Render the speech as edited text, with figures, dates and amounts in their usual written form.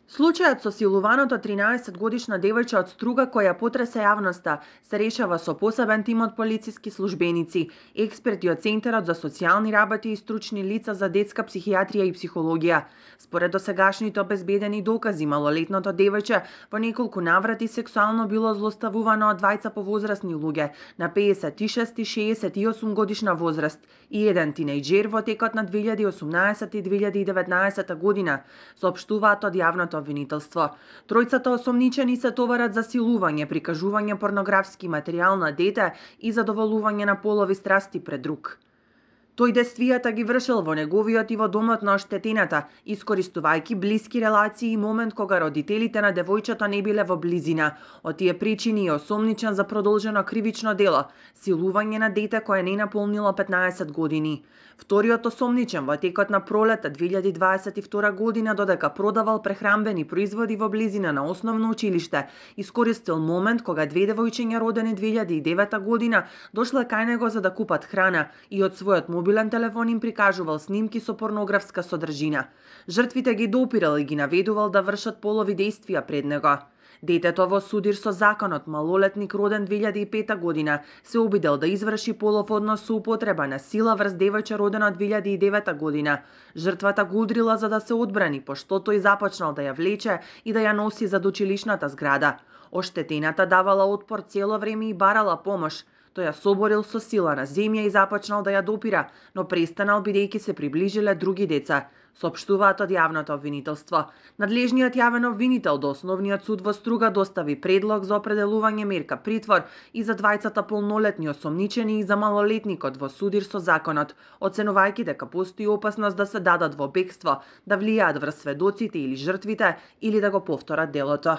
Случајот со силуваното 13-годишна девојче од Струга која потресе јавноста се решава со посебен тим од полициски службеници, експерти од Центарот за социјални работи и стручни лица за детска психијатрија и психологија. Според досегашните обезбедени докази, малолетното девојче во неколку наврати сексуално било злоставувано од двајца повозрасни луѓе на 56 и 68 годишна возраст и еден тинејџер во текот на 2018 и 2019 година, соопштуваат од јавното обвинителство. Тројцата осомничени се товарат за силување, прикажување порнографски материјал на дете и задоволување на полови страсти пред друг. Тој действијата ги вршил во неговиот и во домот на оштетената, искористувајќи блиски релации и момент кога родителите на девојчето не биле во близина. Од тие причини е осомничен за продолжено кривично дело – силување на дете кое не наполнило 15 години. Вториот осомничен во текот на пролета 2022 година, додека продавал прехранбени производи во близина на основно училиште, искористил момент кога две девојчиња родени 2009 година дошле кај него за да купат храна и од својот мобилен телефон им прикажувал снимки со порнографска содржина. Жртвите ги допирал и ги наведувал да вршат полови действија пред него. Детето во судир со законот, малолетник роден 2005 година, се обидел да изврши полов однос со употреба на сила врз девојче родено 2009 година. Жртвата го удрила за да се одбрани, пошто тој започнал да ја влече и да ја носи зад училишната зграда. Оштетената давала отпор цело време и барала помош. Тој ја соборил со сила на земја и започнал да ја допира, но престанал бидејќи се приближиле други деца, соопштуваат од јавното обвинителство. Надлежниот јавен обвинител до Основниот суд во Струга достави предлог за определување мерка притвор и за двајцата полнолетни осомничени и за малолетникот во судир со законот, оценувајќи дека постои опасност да се дадат во бегство, да влијаат врз сведоците или жртвите или да го повторат делото.